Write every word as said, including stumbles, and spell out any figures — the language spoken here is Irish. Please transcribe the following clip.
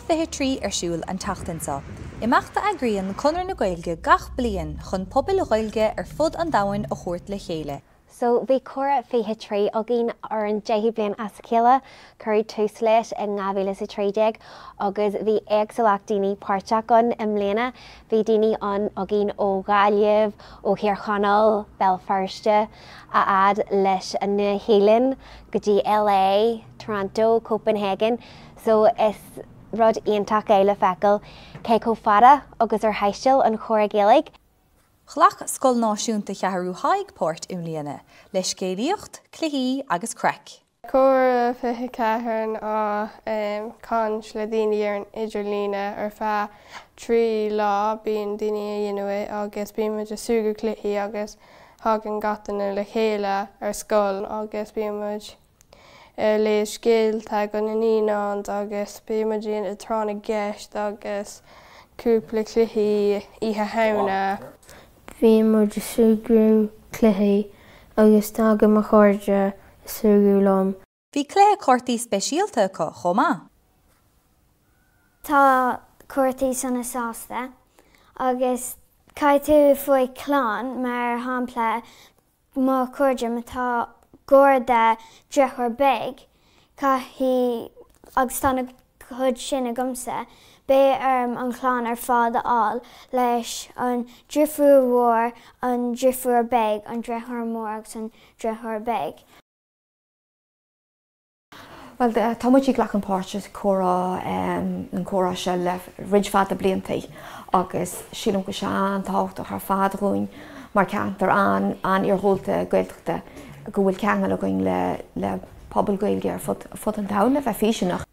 fiche trí ar siúl an tseachtain seo. Imeacht a eagraíonn Conradh na Gaeilge gach bliain chun pobail Ghaeilge ar fud an domhain a thabhairt le chéile. So bhí Comhrá fiche trí againn ar an deichiú bliain as a chéile, cuireadh tús leis in dhá mhíle is a trí déag agus bhí éagsúlacht daoine páirteach ann i mbliana. Bhí daoine ann againn ó Ghaillimh, ó Thír Chonaill, Béal Feirste, a fhad leis an Nua-Shéalainn go dtí LA, Toronto, Copenhagen, so is rud iontach é le feiceáil cé chomh fada agus ar thaistil an chomhrá Gaeilge. Ghlac Scoil Náisiúnta Cheathrú Thaidhg páirt i mbliana, le scéalaíocht, cluichí agus craic. Comhrá fiche ceathair ná caint le daoine ar an idirlíne ar feadh trí lá bíonn daoine a dhéanamh é agus bíonn muid ag súgradh cluichí agus thagann gach duine le chéile ar scoil agus bíonn muid ag léamh scéalta go na naíonáin agus bíonn muid ag tráth na gceist agus cúpla cluichí Oíche Shamhna. Bhí muid ag súgradh cluichí agus tagann mo chairde ag súgradh liom. Bhí cluiche cártaí speisialta acu chomh maith. Tá cártaí sona sásta agus caithfidh tú faoi clann mar shampla mo chairde má tá garda deartháir beag caithfidh agus tá na chuid sin agamsa, beidh orm an chlann ar fad a fháil leis an deirfiúr mhór, an deirfiúr beag, an deartháir mór agus an deartháir beag. Well tá muid ag glacadh páirt sa chomhrá an comhrá seo le roinnt fada blianta agus sílim go sé an-tábhachtach ar fad dhúinn mar ceantar an an-iargúlta Gaeltachta go bhfuil ceangal againn le le pobal Gaeilge ar fud fud an domhain le bheith fírinneach.